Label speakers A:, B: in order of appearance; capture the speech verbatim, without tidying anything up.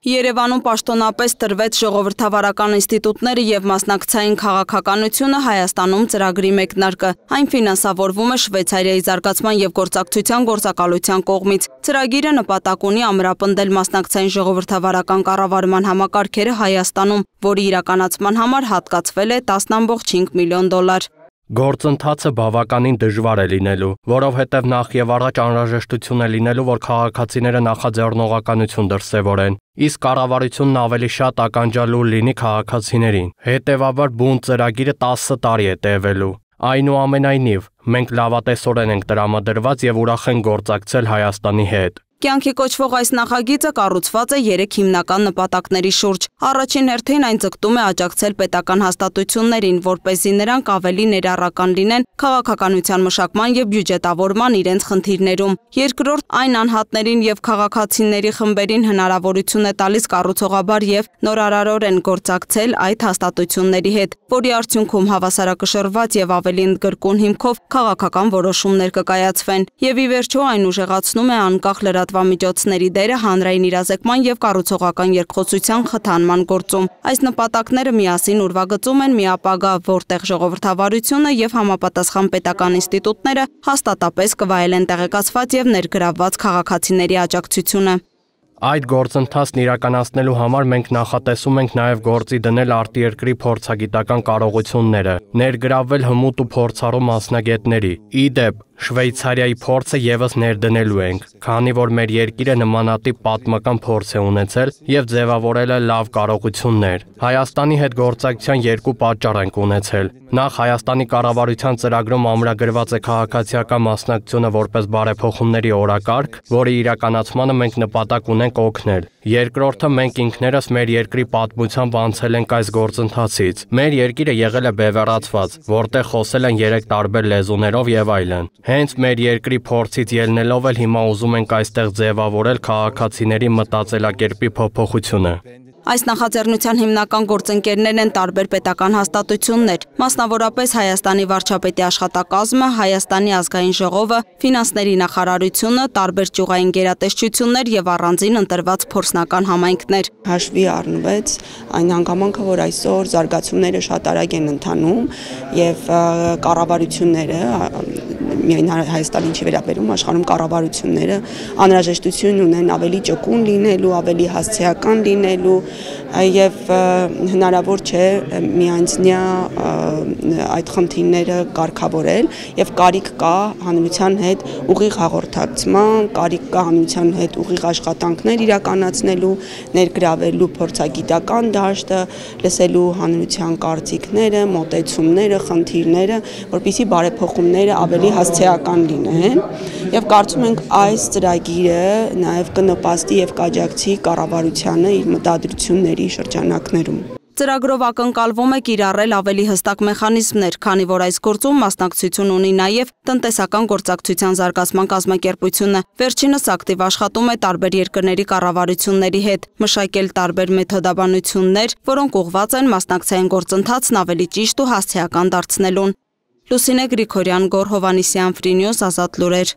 A: Երևանում պաշտոնապես տրվեց ժողովրդավարական ինստիտուտները եւ մասնակցային քաղաքականությունը Հայաստանում ծրագրի մեկնարկը։ Այն ֆինանսավորվում է Շվեյցարիայի զարգացման եւ գործակցության գործակալության կողմից։ Ծրագիրը նպատակ ունի ամրապնդել մասնակցային ժողովրդավարական կառավարման համակարգերը Հայաստանում, որի իրականացման համար հատկացվել է տասն ամբողջ հինգ միլիոն դոլար։
B: Գործընթացը բավականին դժվար է լինելու, որովհետև նախ եւ առաջ անհրաժեշտություն է լինելու, որ քաղաքացիները նախաձեռնողականություն դրսևորեն, իսկ կառավարությունն ավելի շատ ականջալու լինի քաղաքացիներին։ Հետևաբար բուն ծրագիրը տասը տարի է տևելու։ Այնուամենայնիվ, մենք լավատեսորեն ենք տրամադրված եւ ուրախ ենք գործակցել Հայաստանի հետ։
A: Կյանքի կոչվող այս նախագիծը կառուցված է երեք հիմնական նպատակների շուրջ։ Առաջին հերթին այն ձգտում է աջակցել պետական հաստատություններին, որպեսզի նրանք ավելի ներառական լինեն քաղաքականության մշակման եւ բյուջետավորման իրենց խնդիրներում։ Երկրորդ, այն անհատներին եւ քաղաքացիների խմբերին հնարավորություն է տալիս կառուցողաբար եւ նորարարորեն գործակցել այդ հաստատությունների հետ, որի արդյունքում հավասարակշռված եւ ավելի ընդգրկուն հիմքով քաղաքական որոշումներ կկայացվեն։ Եվ ի վերջո այն ուժեղացնում է անկախ լրատվամիջոցների դերը հանրային իրազեկման եւ կառուցողական երկխոսության խթանման գործում։ Այս նպատակները միասին ուրվագծում են մի ապագա, որտեղ ժողովրդավարությունը եւ համապատասխան պետական ինստիտուտները հաստատապես կվայելեն տեղեկացված եւ ներգրավված քաղաքացիների աջակցությունը։
B: Այդ գործընթացն իրականացնելու համար մենք նախատեսում ենք նաև գործի դնել արտերկրի փորձագիտական կարողությունները, ներգրավվել հմուտ ու փորձառու մասնագետների։ Ի դեպ, Շվեյցարիայի փորձը եւս ներդնելու ենք, քանի որ մեր երկիրը նմանատիպ պատմական փորձ է ունեցել եւ ձևավորել է լավ կարողություններ։ Հայաստանի հետ գործակցության երկու պատճառ ենք ունեցել։ Նախ Հայաստանի կառավարության ծրագրում ամրագրված է քաղաքացիական մասնակցությունը որպես բարեփոխումների օրակարգ, որի իրականացմանը մենք նպատակ ունենք օգնել։ Երկրորդը, մենք ինքներս մեր երկրի պատմությամբ անցել ենք այս գործընթացից։ Մեր երկիրը եղել է բևեռացված, որտեղ խոսել են երեք տարբեր լեզուներով եւ այլն։ Հենց մեր երկրի փորձից ելնելով էլ հիմա ուզում ենք այստեղ ձևավորել քաղաքացիների մտածելակերպի փոփոխությունը։
A: Այս նախաձեռնության հիմնական գործընկերներն են տարբեր պետական հաստատություններ, մասնավորապես Հայաստանի վարչապետի աշխատակազմը, Հայաստանի ազգային ժողովը, ֆինանսների նախարարությունը, տարբեր ճյուղային գերատեսչություններ եւ առանձին ընտրված փորձնական համայնքներ։
C: Հաշվի առնվեց այն հանգամանքը, որ այսօր զարգացումները շատ արագ են ընթանում եւ կառավարությունները միայն Հայաստանի չի վերաբերում, աշխարհում կառավարությունները անհրաժեշտություն ունեն ավելի ճկուն լինելու, ավելի հասցեական լինելու եւ հնարավոր չէ միանձնյա այդ խնդիրները կարգավորել եւ կարիք կա հանրության հետ ուղիղ հաղորդակցման, կարիք կա հանրության հետ ուղիղ աշխատանքներ իրականացնելու, ներգրավելու փորձագիտական դաշտը, լսելու հանրության կարծիքները, մոտեցումները, խնդիրները, որպեսզի բարեփոխումները ավելի հասցեական լինեն եւ կարծում ենք այս ծրագիրը նաեւ կնպաստի եւ կաջակցի կառավարությանը իր մտադրությունների շրջանակներում։
A: Ծրագրով ակնկալվում է կիրառել ավելի հստակ մեխանիզմներ, քանի որ այս գործում մասնակցություն ունի նաև տնտեսական գործակցության զարգացման կազմակերպությունը։ Վերջինս ակտիվ աշխատում է տարբեր երկրների կառավարությունների հետ, մշակել տարբեր մեթոդաբանություններ, որոնք ուղղված են մասնակցային գործընթացն ավելի ճիշտ ու հասցեական դարձնելուն։ Լուսինե Գրիգորյան, Գոռ Հովհաննիսյան, Ֆրի Նյուզ, Ազատ լուրեր։